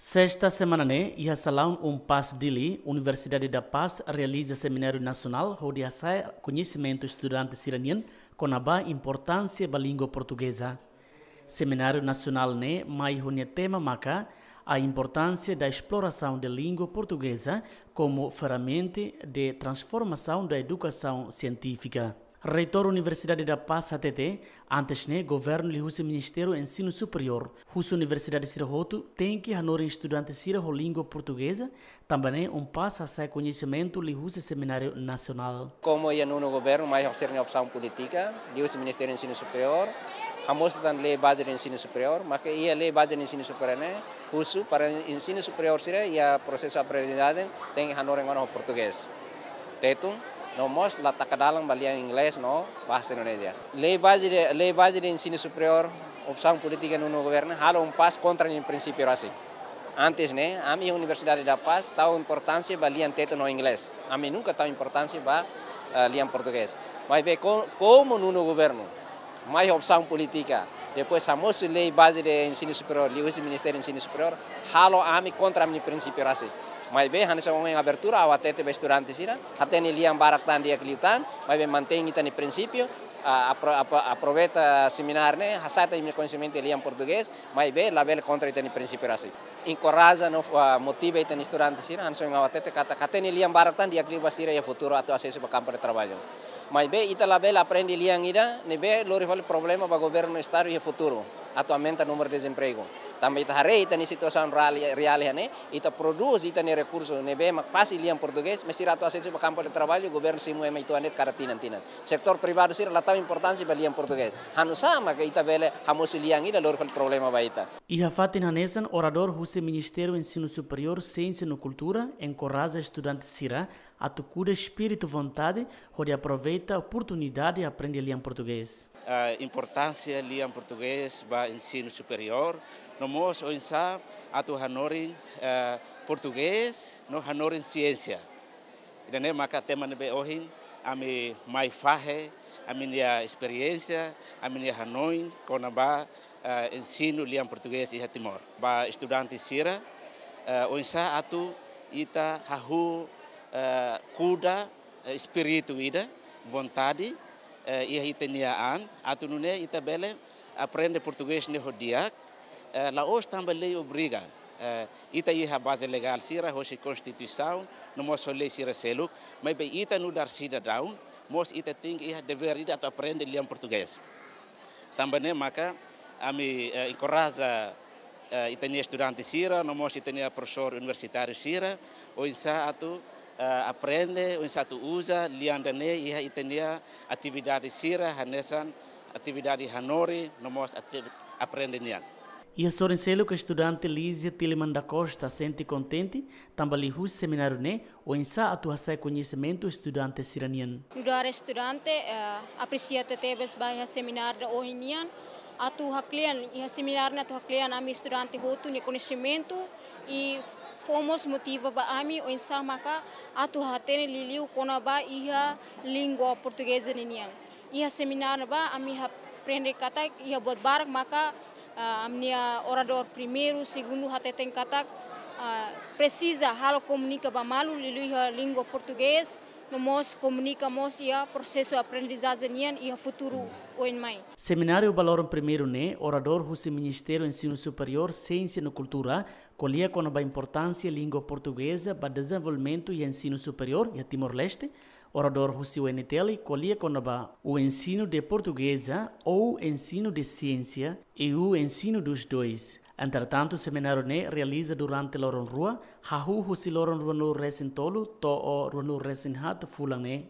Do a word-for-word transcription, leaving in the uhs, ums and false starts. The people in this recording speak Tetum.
Sesta semana ne'e, iha salaun UNPAZ Dili, Universidade da Paz realiza semináriu nasionál hodi hasa'e koñesimentu estudante sira-nian kona-ba importánsia ba língua portugeza. Semináriu nasionál ne'e mai ho nia tema maka A importância da exploração da língua portuguesa como ferramenta de transformação da educação científica. Reitór Universidade da Paz hatete, antes ne'e governu liuhusi Ministériu Ensinu Superiór, husu universidade sira hotu tenke hanorin estudante sira ho língua portugeza, tanba ne'e UNPAZ hasa'e koñesimentu liuhusi semináriu nasionál. Komu iha nonu governu mai ho sira-nia opsaun polítika, liuhusi Ministériu Ensinu Superiór, hamosu tan Lei Baze de Ensinu Superiór, maka iha Lei Baze de Ensinu Superiór ne'e husu para ensinu superiór sira iha prosesu aprendizajen tenke hanorin ona ho portugés. Tetun, no mós la taka dalan ba lian inglés no bahasa Indonesia. Lei Baze de, Lei Baze de Ensinu Superiór, opsaun polítika nonu governu, halo UNPAZ kontra nia prinsípiu rasik. Antes ne'e, ami Universidade da Paz tau importánsia ba lian Tetun no inglés. Ami nunka tau importánsia ba, eh, lian portugés. Maibé ko-, komu nonu governu mai ho opsaun polítika, depois hamosu Lei Baze de Ensinu Superiór, liuhusi Ministériu Ensinu Superiór, halo ami kontra ami-nia prinsípiu rasik. Maibé hanesan ohin abertura ha'u hatete ba estudante sira, hatene lian barak tan di'ak liután, maibé mantein ita-nia prinsípiu, ah, apro-, apro-, aproveita semináriu ne'e, hasa'e ita-nia koñesimentu lian portugés, maibé labele kontra ita-nia prinsípiu rasik. Enkoraja no, ah, motiva ita-nia estudante sira, hanesan ohin ha'u hatete katak hatene lian barak tan di'ak liu ba sira iha futuru atu asesu ba kampu de traballu. Maibé ita labele aprende lian ida ne'ebé lori fali problema ba governu estadu iha futuru atu aumenta númeru dezempregu. Tanba ita haree ita-nia situasaun reál, reál iha ne'e, ita prodús ita-nia rekursu ne'ebé mak fasil lian portugés, mas sira atu asesu ba kampu de traballu, governu simu ema uitoan de'it kada tinan-tinan. Setór privadu sira la tau importánsia ba lian portugés. Hanusá maka ita bele hamosu lian ida lori fali problema ba ita. Iha fatin hanesan, oradór husi Ministériu Ensinu Superiór, Siénsia no Kultura enkoraja estudante sira atu kuda espíritu vontade hodi aproveita oportunidade aprende lian portugés. Ah, importánsia lian portugés ba ensinu superiór, no mós oinsá atu hanorin, eh, portugés no hanorin siénsia. Ida-ne'e maka tema ne'ebé ohin ami mai fahe ami-nia esperiénsia, ami-nia hanoin kona-ba, eh, ensinu lian portugés iha Timor. Ba estudante sira, eh, oinsá atu ita hahú, eh, kuda, eh, espíritu ida, vontade, eh, iha ita-nia an, atu nune'e ita bele aprende portugés ne'e ho di'ak, eh, la'ós tanba lei obriga. Eh, ita iha baze legál sira, hosi Konstituisaun, no mós ho lei sira seluk, maibé ita nu'udar sidadaun, mós ita tenke iha devér ida atu aprende lian portugés. Tanba ne'e maka ami, eh, enkoraja, eh, ita-nia estudante sira, no mós ita-nia profesór universitáriu sira, oinsá atu, eh, aprende, oinsá atu uza lian ida-ne'e iha ita-nia atividade sira, hanesan atividade hanorin, no mós ativi-, aprende nian. Iha sorin seluk, estudante Lízia Tiliman da Costa sente kontente tanba liuhusi semináriu ne'e oinsá atu hasa'e koñesimentu estudante sira-nian. Nu'udar estudante, eh, apresia tebes ba iha semináriu ida ohin nian, atu haklean, iha semináriu ne'e atu haklean ami estudante hotu nia koñesimentu, i fó mós motiva ba ami oinsá maka atu hatene liuliu kona-ba iha língua portugeza ninian. Iha semináriu ne'ebá ami aprende katak iha buat barak maka, ah, ami-nia oradór primeiru, segundu hateten katak, ah, presiza halo komunika ba malu liuliu iha língua portugés, no mós komunika mós iha prosesu aprendizajen nian iha futuru oin mai. Semináriu ba loron primeiru ne'e, oradór husi Ministériu Ensinu Superiór, Siénsia no Kultura ko'alia kona-ba importánsia língua portugeza ba dezenvolvimentu iha ensinu superiór iha Timor-Leste. Oradór husi UNTL ko'alia kona-ba o ensino de portuguesa ou ensino de ciência e o ensino dos dois. Entretantu, semináriu ne'e realiza durante loron rua, hahú husi loron ruanulu-resin-tolu to'o ruanulu-resin-haat fulan ne'e.